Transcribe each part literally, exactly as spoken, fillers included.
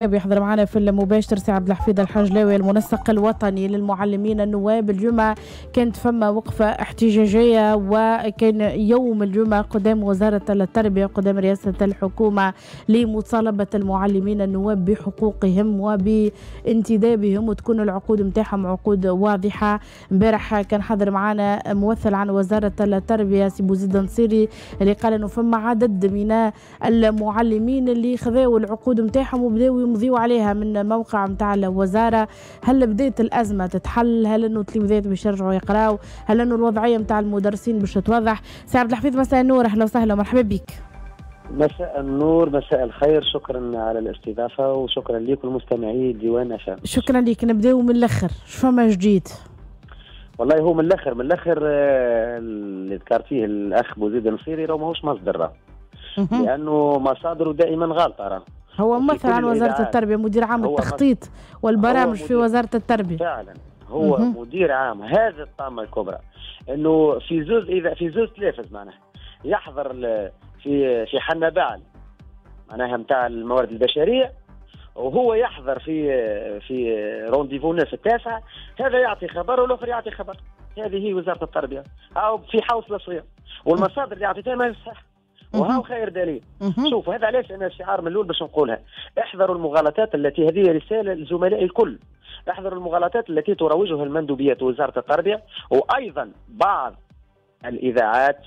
بيحضر معنا في المباشر سي عبد الحفيظ الحجلاوي المنسق الوطني للمعلمين النواب. اليوم كانت فما وقفة احتجاجية، وكان يوم الجمعة قدام وزارة التربية قدام رئاسة الحكومة لمطالبة المعلمين النواب بحقوقهم وبانتدابهم وتكون العقود متاعهم عقود واضحة. امبارح كان حاضر معنا ممثل عن وزارة التربية سي بوزيد نصيري اللي قال انه فما عدد من المعلمين اللي خذاو العقود متاعهم وبداو يمضيوا عليها من موقع متاع الوزارة. هل بدات الأزمة تتحل؟ هل انه التلميذات باش يرجعوا يقراوا؟ هل انه الوضعية متاع المدرسين باش تتوضح؟ سي عبد الحفيظ مساء النور، اهلا وسهلا ومرحبا بك. مساء النور، مساء الخير، شكرا على الاستضافة وشكرا لكم المستمعي ديوان أف أم. شكرا لك. نبداو من الاخر، شو فما جديد؟ والله هو من الاخر من الاخر اللي ذكر فيه الاخ بوزيد النصيري راه ماهوش مصدر، لانه مصادره دائما غلطه. راه هو ممثل عن وزارة التربية، مدير عام التخطيط والبرامج في وزارة التربية. فعلا هو مه. مدير عام. هذا الطامة الكبرى انه في زوز اذا في زوز تلافز معناها يحضر في في حنبعل معناها نتاع الموارد البشرية، وهو يحضر في في rendez-vous ناس التاسعة، هذا يعطي خبر والاخر يعطي خبر. هذه هي وزارة التربية او في حوصلة صغيرة، والمصادر اللي اعطيتها ما هي صح، وهو خير دليل. شوف هذا علاش انا الشعار من الاول باش نقولها، احذروا المغالطات التي، هذه رسالة لزملائي الكل، احذروا المغالطات التي تروجها المندوبيات ووزارة التربية وايضا بعض الاذاعات،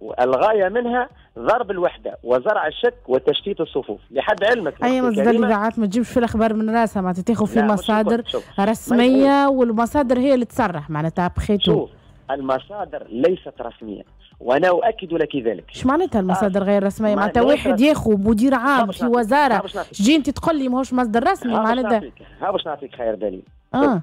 والغاية منها ضرب الوحدة وزرع الشك وتشتيت الصفوف. لحد علمك اي مصدر الاذاعات ما تجيبش في الاخبار من راسها، معناتها تاخذ في مصادر رسمية والمصادر هي اللي تصرح معناتها بخيتو. المصادر ليست رسمية وانا اؤكد لك ذلك. اش معناتها المصادر غير رسمية؟ معناتها واحد ياخذ مدير عام في وزارة تجي انت تقول لي ماهوش مصدر رسمي معناتها. ها باش نعطيك خير دليل. اه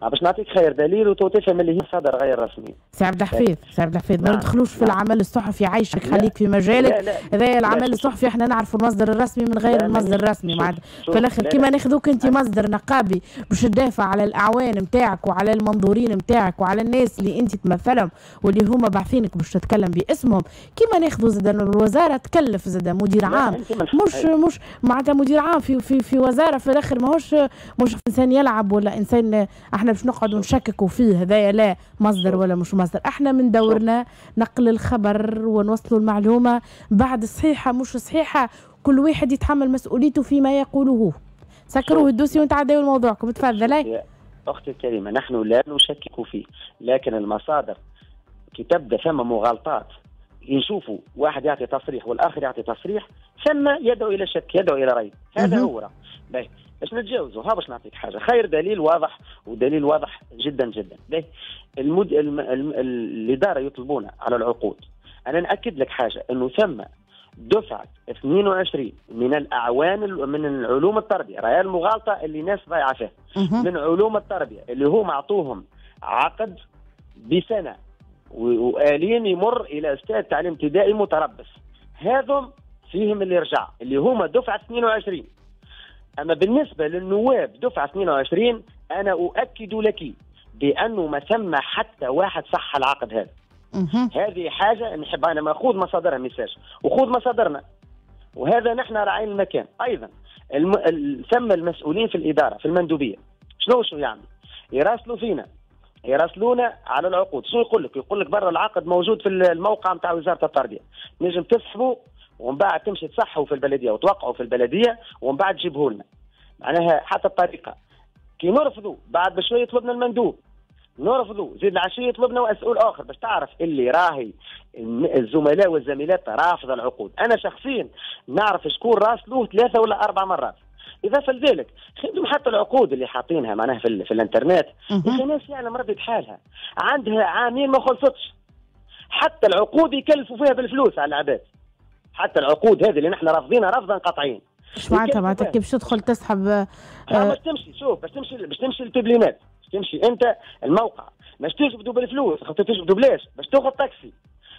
باش نعطيك خير دليل وتفهم اللي هي مصادر غير رسمية. سي عبد الحفيظ، سي عبد الحفيظ ما ندخلوش في العمل الصحفي، عايشك خليك في مجالك. هذا العمل الصحفي احنا نعرفوا المصدر الرسمي من غير المصدر الرسمي. معناتها في الاخر كيما ناخذوك انت مصدر نقابي باش تدافع على الاعوان نتاعك وعلى المنظورين نتاعك وعلى الناس اللي انت تمثلهم واللي هما باعثينك باش تتكلم باسمهم، كيما ناخذوا زاد الوزارة تكلف زاد مدير عام، مش مش معناتها مدير عام في في في وزارة في الاخر ماهوش مش انسان يلعب ولا انسان احنا باش نقعدوا نشككوا فيه هذايا لا مصدر ولا مش مصدر. احنا من دورنا نقل الخبر ونوصلوا المعلومة بعد صحيحه مش صحيحه، كل واحد يتحمل مسؤوليته فيما يقوله. سكروا ال dossier ونتعداو لموضوعكم، تفضلي. اختي الكريمة نحن لا نشكك فيه، لكن المصادر كي تبدا ثم مغالطات، يشوفوا واحد يعطي تصريح والاخر يعطي تصريح، ثم يدعو الى شك، يدعو الى ريب. هذا هو. باهي باش نتجاوزوا، ها باش نعطيك حاجة خير دليل واضح ودليل واضح جدا جدا. باهي المد... الم... الم... الادارة يطلبون على العقود. انا ناكد لك حاجة، انه ثم دفعه اثنين وعشرين من الاعوان من العلوم التربية، راهي المغالطة اللي ناس ضايعة فيها، من علوم التربية اللي هم اعطوهم عقد بسنة وآلين يمر الى استاذ تعليم ابتدائي متربص، هذم فيهم اللي رجع اللي هما دفعه اثنين وعشرين. اما بالنسبة للنواب دفعه اثنين وعشرين انا اؤكد لك بانه ما ثم حتى واحد صح العقد هذا. هذه حاجة نحب انا ماخوذ مصادرها message وخذ مصادرنا، وهذا نحن راعين المكان. ايضا الم... ثم المسؤولين في الادارة في المندوبيه شنو شنو يعمل؟ يراسلوا فينا، يراسلونا على العقود. شنو يقول لك؟ يقول لك برا العقد موجود في الموقع نتاع وزارة التربية، نجم تسحبه ومن بعد تمشي تصحوا في البلدية وتوقعوا في البلدية ومن بعد تجيبه لنا. معناها حتى الطريقة كي نرفضوا بعد بشوية يطلبنا المندوب، نرفضوا زيد العشية يطلبنا مسؤول اخر، باش تعرف اللي راهي الزملاء والزميلات رافضه العقود. انا شخصيا نعرف شكون راسلوه ثلاثة ولا اربع مرات. اضافه لذلك خدم حتى العقود اللي حاطينها معناها في, في الانترنت، يا ناس يعلم ربي بحالها عندها عامين ما خلصتش. حتى العقود يكلفوا فيها بالفلوس على العباد، حتى العقود هذه اللي نحن رافضينها رفضا قطعيا. ايش معناتها؟ معناتها كيف تدخل تسحب؟ آه باش تمشي، شوف باش تمشي باش تمشي لل Publinet، باش تمشي انت الموقع باش تجبدوا بالفلوس، خاطر تجبدوا بلاش، باش تاخذ تاكسي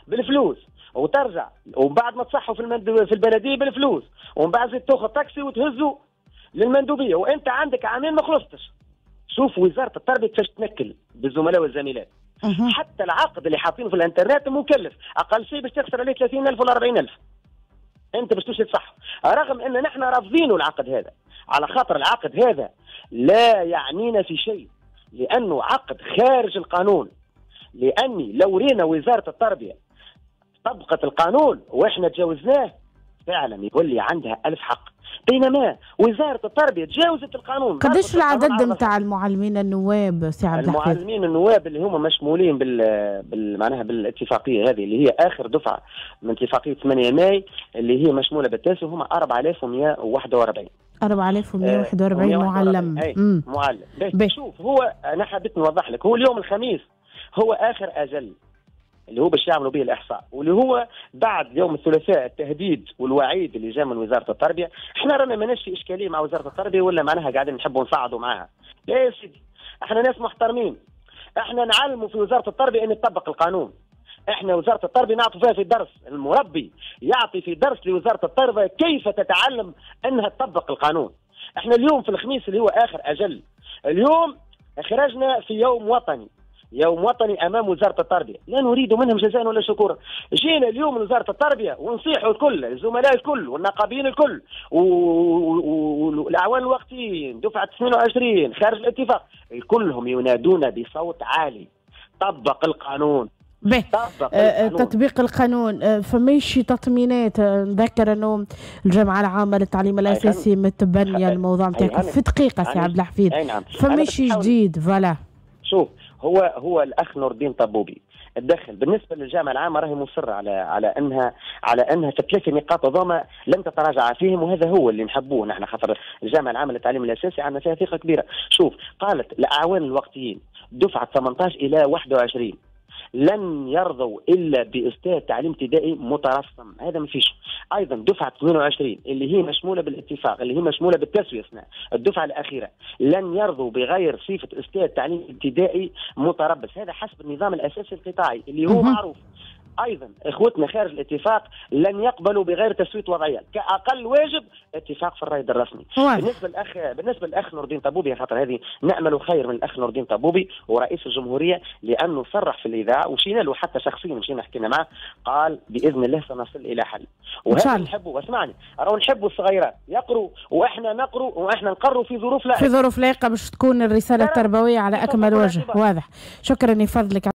بالفلوس وترجع، ومن بعد ما تصحوا في المند... في البلدية بالفلوس، ومن بعد زيد تاخذ تاكسي وتهزوا للمندوبيه وانت عندك عامين ما خلصتش. شوف وزارة التربية كيفاش تنكل بالزملاء والزميلات. حتى العقد اللي حاطينه في الانترنت مكلف، اقل شيء باش تخسر عليه ثلاثين ألف ولا أربعين ألف. انت باش تمشي تصح، رغم ان نحن رافضينه العقد هذا، على خاطر العقد هذا لا يعنينا في شيء، لانه عقد خارج القانون. لاني لو رينا وزارة التربية طبقت القانون واحنا تجاوزناه فعلا يولي عندها ألف حق، بينما وزارة التربية تجاوزت القانون. قداش العدد نتاع المعلمين النواب سي عبد الحفيظ؟ المعلمين النواب اللي هما مشمولين بال, بال... معناها بالاتفاقية هذه اللي هي آخر دفعة من اتفاقية ثمانية ماي اللي هي مشمولة بالتاسع، هما أربعة آلاف ومئة وواحد وأربعين. أربعة آلاف ومئة وواحد وأربعين معلم. أي. معلم. شوف، هو أنا حبيت نوضح لك، هو اليوم الخميس هو آخر أجل اللي هو باش يعملوا به الاحصاء، واللي هو بعد يوم الثلاثاء التهديد والوعيد اللي جاء من وزارة التربية. احنا رانا ماناش في اشكالية مع وزارة التربية ولا معناها قاعدين نحبوا نصعدوا معاها، لا يا سيدي، احنا ناس محترمين، احنا نعلموا في وزارة التربية ان تطبق القانون. احنا وزارة التربية نعطوا فيها في الدرس، المربي يعطي في درس لوزارة التربية كيف تتعلم انها تطبق القانون. احنا اليوم في الخميس اللي هو اخر اجل، اليوم خرجنا في يوم وطني، يوم وطني امام وزارة التربية، لا نريد منهم جزاء ولا شكورا. جينا اليوم لوزارة التربية ونصيحوا الكل، الزملاء الكل والنقابيين الكل والاعوان الوقتيين دفعه اثنين وعشرين خارج الاتفاق، كلهم ينادون بصوت عالي طبق القانون. به آه تطبيق القانون. فماشي تطمينات. نذكر انه الجامعة العامة للتعليم الاساسي متبنيه الموضوع نتاعكم. في دقيقة سي عبد الحفيظ، فماشي جديد voilà. شوف، هو هو الاخ نور الدين طبوبي تدخل. بالنسبة للجامعة العامة راهي مصرة على على انها على انها في ثلاث نقاط هذوما لم تتراجع فيهم، وهذا هو اللي نحبوه نحن، خاطر الجامعة العامة للتعليم الاساسي عندنا فيها ثقة كبيرة. شوف، قالت الاعوان الوقتيين دفعه ثمانية عشر الى واحد وعشرين لن يرضوا الا باستاذ تعليم ابتدائي مترسم، هذا ما فيش. ايضا دفعه اثنين وعشرين اللي هي مشموله بالاتفاق، اللي هي مشموله بالتسويه سنة الدفعة الاخيرة، لن يرضوا بغير صفة استاذ تعليم ابتدائي متربص، هذا حسب النظام الاساسي القطاعي اللي هو معروف. ايضا اخوتنا خارج الاتفاق لن يقبلوا بغير تسويه وضعية، كاقل واجب اتفاق في الرائد الرسمي. بالنسبة للاخ بالنسبة للاخ نور الدين طبوبي، خاطر هذه نامل خير من الاخ نور الدين طبوبي ورئيس الجمهورية، لانه صرح في الاذاعة وشينا له حتى شخصيا، مشينا حكينا معه، قال باذن الله سنصل الى حل. وهذا نحبه، اسمعني، راهو نحبوا الصغيرات يقروا واحنا نقروا واحنا نقروا في ظروف لائقة، في ظروف لائقة باش تكون الرسالة التربوية على اكمل وجه. واضح. شكرا لفضلك.